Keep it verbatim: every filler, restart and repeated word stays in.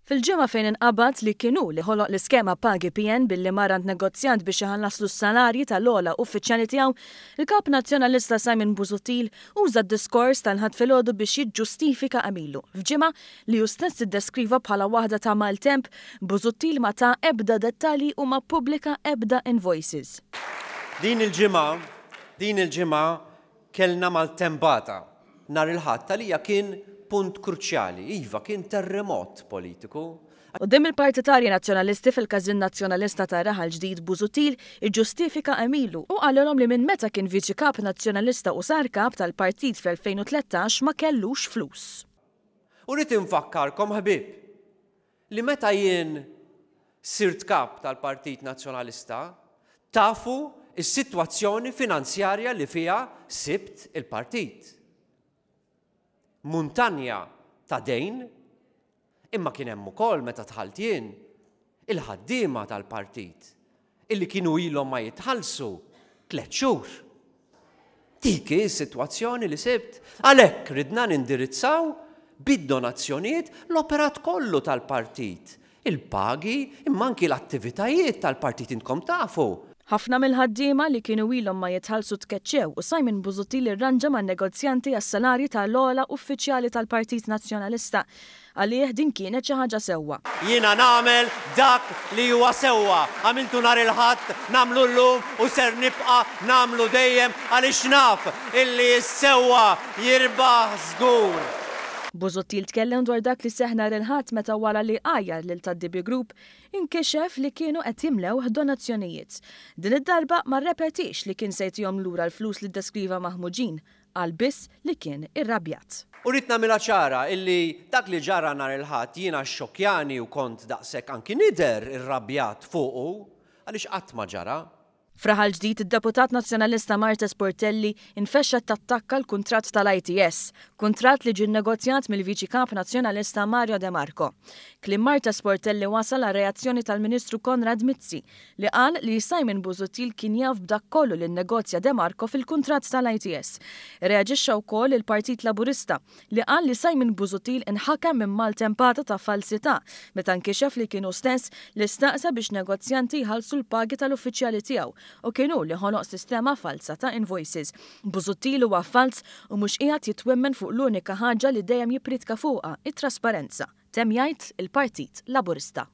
Fil-ġimgħa fejn inqabad li kien hu li ħoloq l-iskema Pagi P N billi mar għand negozjant biex iħallaslu s-salarji tal-ogħla uffiċjali tiegħu, il-kap Nazzjonalista Simon Busuttil uża d-diskors tal-Ħadd filgħodu biex jiġġustifika għemilu. F'ġimgħa li hu stess iddeskriva bħala waħda ta' maltemp, Busuttil ma ta ebda dettalji u ma ppubblika ebda invoices. Din il-ġimgħa, din il-ġimgħa kellna maltempata. Nhar il-Ħadd għalija kien punt kruċjali, iva, kien terremot politiku. Quddiem il-partitarji Nazzjonalisti fil-Każin Nazzjonalista ta' Raħal Ġdid, Busuttil iġġustifika għemilu u qalilhom li minn meta kien viċi kap Nazzjonalista u sar kap tal-partit fl-elfejn u tlettax ma kellux flus. U rrid infakkarkom, ħbieb, li meta jien sirt kap tal-Partit Nazzjonalista, tafu is-sitwazzjoni finanzjarja li fiha sibt il-partit. Muntanja ta' dejn, imma kien hemm ukoll, meta dħalt jien, il-ħaddiema tal-partit illi kienu ilhom ma jitħallsu tliet xhur. Dik hi s-sitwazzjoni li sibt. Għalhekk ridna nindirizzaw bid-donazzjonijiet l-operat kollu tal-partit. Il-pagi, imma anki l-attivitajiet tal-partit, intkom tafu. Ħafna mill-ħaddiema li kienu ilhom ma jitħallsu tkeċċew u Simon Busuttil irranġa man negozjanti għas-salarji tal-ogħla uffiċjali tal-Partit Nazzjonalista. Għalih din kienet xi ħaġa sewwa. Jiena nagħmel dak li huwa sewwa. Għamiltu nhar il-Ħadd, nagħmlu llum u ser nibqa' nagħmlu dejjem, għaliex naf illi s-sewwa jirbaħ żgur. Busuttil tkellem dwar dak li seħ nhar il-Ħadd meta, wara li għajjar lil tad-D B Group, inkixef li kienu qed jimlew donazzjonijiet. Din id-darba ma rrepetix li kien se jtihom lura l-flus li deskriva maħmuġin, qal biss li kien irrabjat. U rrid nagħmilha ċara illi dak li ġara nhar il-Ħadd jiena xokjani u kont daqshekk anki nidher irrabjat fuqu, għaliex qatt ma ġara. F'Raħal Ġdid, id-deputat Nazzjonalista Marthese Portelli infexxa tattakka l-kuntratt tal-I T S, kuntratt li ġie negozjat mill-Viċi Kap Nazzjonalista Mario De Marco. Kliem Marthese Portelli wasal għal reazzjoni tal-Ministru Konrad Mizzi, li qal li Simon Busuttil kien jaf b'dak kollu li nnegozja De Marco fil-kuntratt tal-I T S. Reaġixxa wkoll il-Partit Laburista, li qal li Simon Busuttil inħakem minn maltempata ta' falsità meta nkixef li kien hu stess li staqsa biex negozjanti jħallsu l-pagi tal-uffiċjali tiegħu u kien hu li ħoloq sistema falsa ta' invoices. Busuttil huwa falz u mhux qiegħed jitwemmen fuq l-unika ħaġa li dejjem jippriedka fuqha, it-trasparenza, temm jgħid il-Partit Laburista.